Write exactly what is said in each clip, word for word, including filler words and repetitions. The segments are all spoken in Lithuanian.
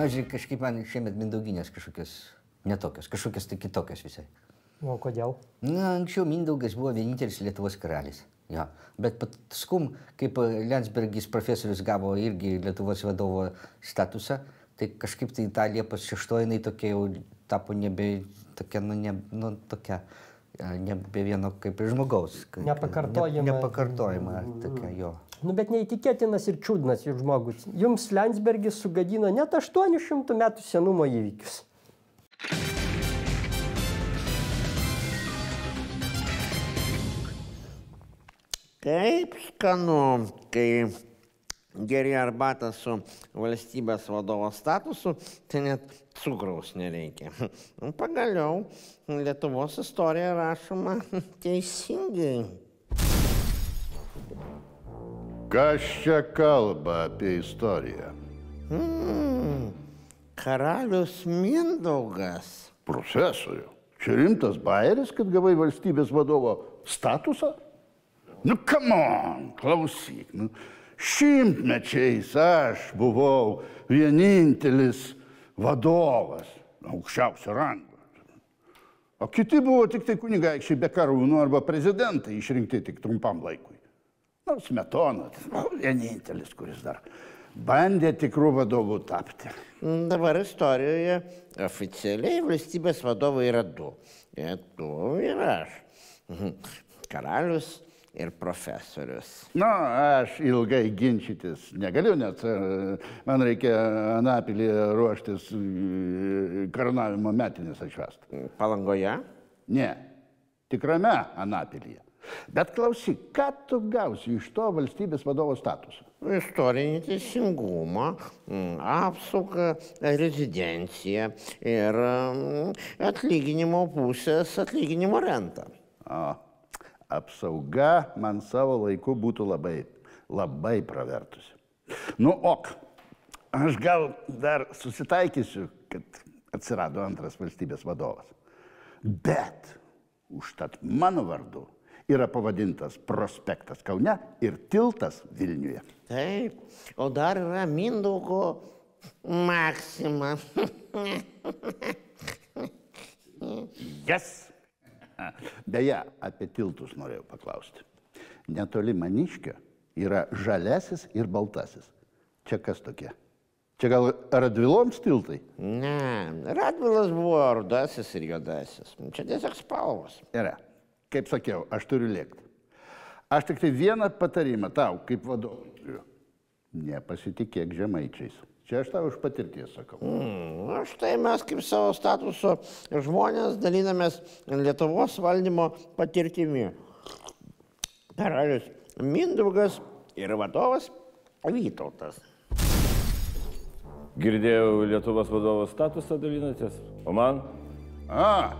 Na, žiūrėk, kažkaip man šiemet Mindauginės kažkokios netokios, kažkokios tai kitokios visai. O kodėl? Na, anksčiau Mindaugas buvo vienintelis Lietuvos karalis. Ja. Bet paskum, kaip Lensbergis profesorius gavo irgi Lietuvos vadovo statusą, tai kažkaip tai ta Liepos šeštoji jinai tokia jau tapo nebe tokia, nu, ne, nu, tokia, nebe vieno kaip ir žmogaus. Nepakartojama. Ne, nepakartojama, tokia jo. Nu, bet neįtikėtinas ir čiūdnas ir žmogus. Jums Lensbergis sugadino net aštuonių šimtų metų senumo įvykius. Kaip skanu, kai geri arbatą su valstybės vadovo statusu, tai net cukraus nereikia. Pagaliau, Lietuvos istorija rašoma teisingai. Kas čia kalba apie istoriją? Hmm, karalius Mindaugas. Profesoriu, čia rimtas bajeris, kad gavai valstybės vadovo statusą? Nu, come on, klausyk. Nu, šimtmečiais aš buvau vienintelis vadovas, aukščiausio rango. O kiti buvo tik tai kunigaikščiai be karūnų arba prezidentai išrinkti tik trumpam laikui. Nu, Smetona, vienintelis, kuris dar bandė tikrų vadovų tapti. Dabar istorijoje oficialiai valstybės vadovai yra du. Ir tu ir aš. Karalius ir profesorius. Na, aš ilgai ginčytis negaliu, nes man reikia Anapilį ruoštis karūnavimo metinės atšvęsti. Palangoje? Ne, tikrame Anapilyje. Bet klausyk, ką tu gausi iš to valstybės vadovo statuso? Istorinį teisingumą, apsaugą, rezidenciją ir atlyginimo pusės atlyginimo rentą. O. Apsauga man savo laiku būtų labai, labai pravertusi. Nu, ok, aš gal dar susitaikysiu, kad atsirado antras valstybės vadovas. Bet užtat mano vardu yra pavadintas prospektas Kaune ir tiltas Vilniuje. Taip, o dar yra Mindaugo Maksima. Yes! Beje, apie tiltus norėjau paklausti. Netoli Maniškio yra žalesis ir baltasis. Čia kas tokie? Čia gal Radviloms tiltai? Ne, Radvilas buvo rudasis ir juodasis. Čia tiesiog spalvos. Yra. Kaip sakiau, aš turiu lėkti. Aš tik tai vieną patarimą tau, kaip vadovui turiu. Nepasitikėk žemaičiais. Čia aš tau iš patirties sakau. Mm, aš tai mes kaip savo statuso žmonės dalinamės Lietuvos valdymo patirtimi. Karalius Mindaugas ir vadovas Vytautas. Girdėjau, Lietuvos vadovo statusą dalinatės, o man? A,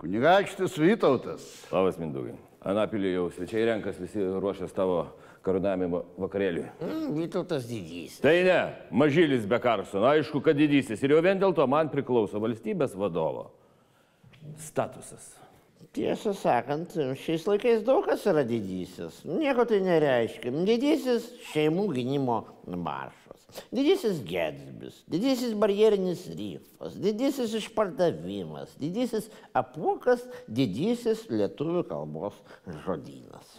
kunigaikštis Vytautas. Labas, Mindaugai. Anapilį jau svečiai renkas, visi ruošęs tavo karūnavimo vakarėliui. Mm, Vytautas didysis. Tai ne, mažylis be Karlsono, aišku, kad didysis. Ir jau vien dėl to man priklauso valstybės vadovo statusas. Tiesą sakant, šiais laikais daug kas yra didysis. Nieko tai nereiškia. Didysis šeimų gynimo maršas. Didysis Getsbis, didysis barjerinis rifas, didysis išpardavimas, didysis apuokas, didysis lietuvių kalbos žodynas.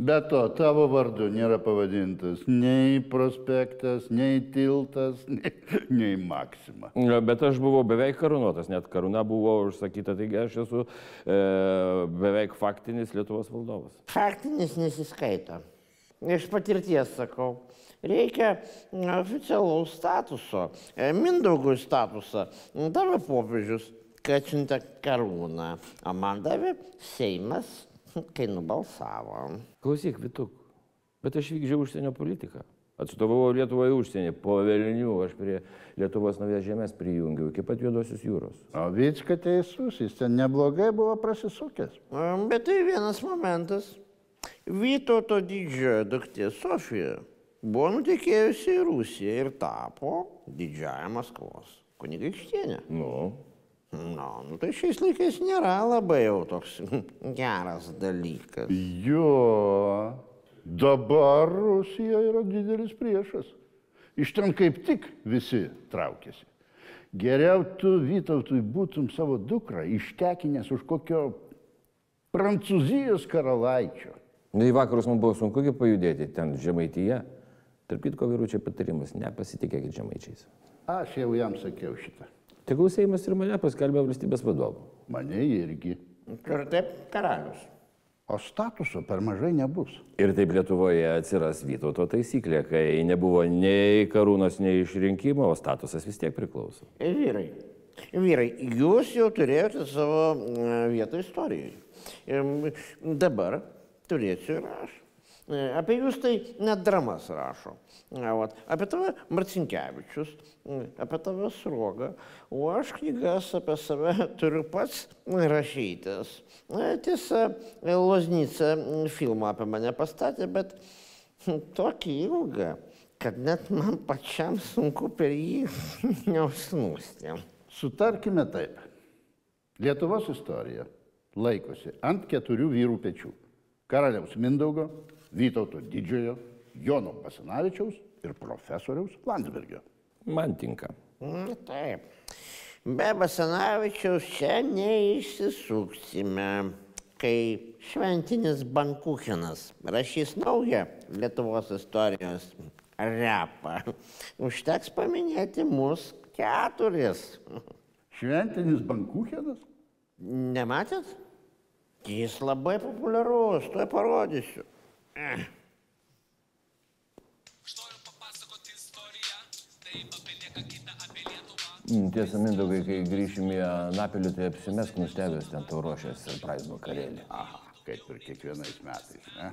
Be to, tavo vardu nėra pavadintas nei prospektas, nei tiltas, nei, nei Maksima. Bet aš buvau beveik karūnuotas, net karūna buvo užsakyta, taigi aš esu e, beveik faktinis Lietuvos valdovas. Faktinis nesiskaito. Iš patirties sakau. Reikia oficialaus statuso, Mindaugui statusą. Davė popiežius, kai atsiuntė karūną, o man davė Seimas, kai nubalsavo. Klausyk, Vituk, bet aš vykdžiau užsienio politiką. Atstovavau Lietuvoje užsienį, po velnių aš prie Lietuvos Naujas Žemės prijungiau, iki pat Juodosios jūros. O Vycka teisus, jis ten neblogai buvo prasisukęs. Bet tai vienas momentas. Vytauto didžiojo duktė Sofija buvo nutekėjusi į Rusiją ir tapo didžiąja Maskvos kunigaikštienė. Nu? Na, nu tai šiais laikais nėra labai jau toks geras dalykas. Jo, dabar Rusija yra didelis priešas. Iš ten kaip tik visi traukėsi. Geriau tu, Vytautui, būtum savo dukrą ištekinęs už kokio Prancūzijos karalaičio. Na, į vakarus man buvo sunku pajudėti, ten Žemaityje. Tarp kitko, vyručiai, patarimas, nepasitikėkit žemaičiais. Aš jau jam sakiau šitą. Tegul Seimas ir mane paskelbė valstybės vadovu. Mane irgi. Ir taip karalius. O statuso per mažai nebus. Ir taip Lietuvoje atsiras Vytauto taisyklė, kai nebuvo nei karūnos, nei išrinkimo, o statusas vis tiek priklauso. Vyrai, vyrai, jūs jau turėjote savo vietą istorijoje. Dabar turėsiu ir aš. Apie jūs tai net dramas rašo. Apie tave Marcinkevičius, apie tave Sruoga, o aš knygas apie save turiu pats rašytis. Tiesa, Loznica filmą apie mane pastatė, bet tokį ilgą, kad net man pačiam sunku per jį neužsnūsti. Sutarkime taip. Lietuvos istorija laikosi ant keturių vyrų pečių. Karaliaus Mindaugo, Vytauto Didžiojo, Jono Basanavičiaus ir profesoriaus Landsbergio. Man tinka. Taip. Be Basanavičiaus čia neišsisuksime, kai šventinis Bankuchenas rašys naują Lietuvos istorijos repą. Užteks paminėti mus keturis. Šventinis Bankuchenas? Nematėt? Jis labai populiarus, tuoj parodysiu. Tiesa, Mindaugai, kai grįšim į Anapilį, tai apsimesk nustebęs ten tau ruošęs surprise vakarėlį. Aha, kaip ir kiekvienais metais, ne?